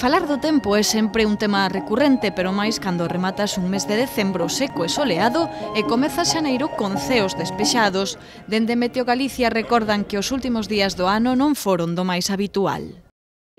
Falar do tempo é sempre un tema recurrente, pero máis cando rematas un mes de decembro seco e soleado e comeza xaneiro con ceos despexados. Dende Meteo Galicia recordan que os últimos días do ano non foron do máis habitual.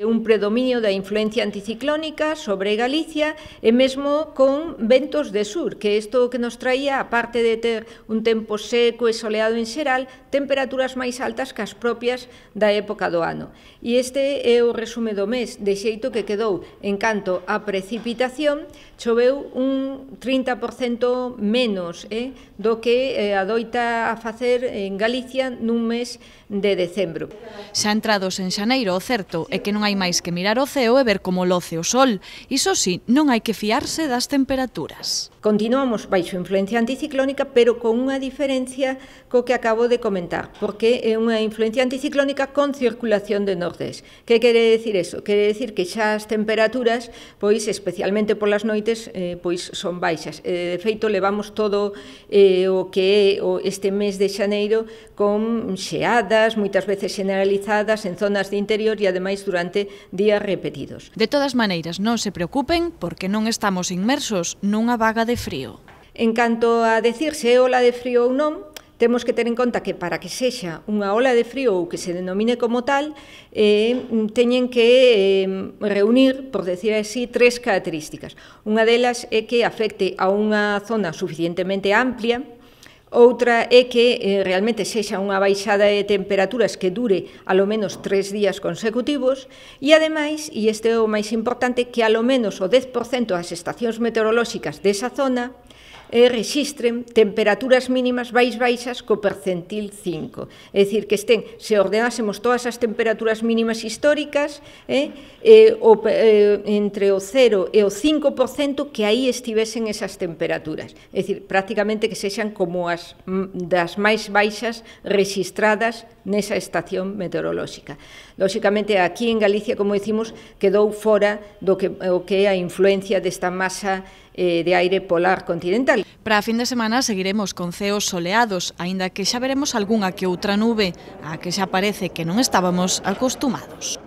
Un predominio da influencia anticiclónica sobre Galicia e mesmo con ventos de sur, que isto que nos traía, aparte de ter un tempo seco e soleado en xeral, temperaturas máis altas que as propias da época do ano. E este é o resume do mes, de xeito que quedou en canto a precipitación, choveu un 30% menos do que adoita a facer en Galicia nun mes de decembro. Xa entrados en xaneiro, o certo é que non hai máis que mirar o ceo e ver como loce o sol. Iso sí, non hai que fiarse das temperaturas. Continuamos baixo influencia anticiclónica, pero con unha diferencia co que acabo de comentar, porque é unha influencia anticiclónica con circulación de nordés. Que quere decir eso? Quere decir que xa as temperaturas, pois especialmente polas noites, pois son baixas. De feito, levamos todo o que é este mes de xaneiro con xeadas, moitas veces generalizadas en zonas de interior e ademais durante días repetidos. De todas maneiras, non se preocupen porque non estamos inmersos nunha vaga de frío. En canto a decir se é ola de frío ou non, temos que ter en conta que para que sexa unha ola de frío ou que se denomine como tal, teñen que reunir, por decir así, tres características. Unha delas é que afecte a unha zona suficientemente amplia. Outra é que realmente sexa unha baixada de temperaturas que dure alo menos 3 días consecutivos e, ademais, e este é o máis importante, que alo menos o 10% das estacións meteorolóxicas desa zona rexistren temperaturas mínimas baixas co percentil 5. É dicir, que estén, se ordenásemos todas as temperaturas mínimas históricas, entre o 0 e o 5% que aí estivesen esas temperaturas. É dicir, prácticamente que sexan como as das máis baixas rexistradas nesa estación meteorolóxica. Lóxicamente, aquí en Galicia, como dicimos, quedou fora do que é a influencia desta masa de aire polar continental. Para a fin de semana seguiremos con ceos soleados, aínda que xa veremos algunha que outra nube, a que xa parece que non estábamos acostumados.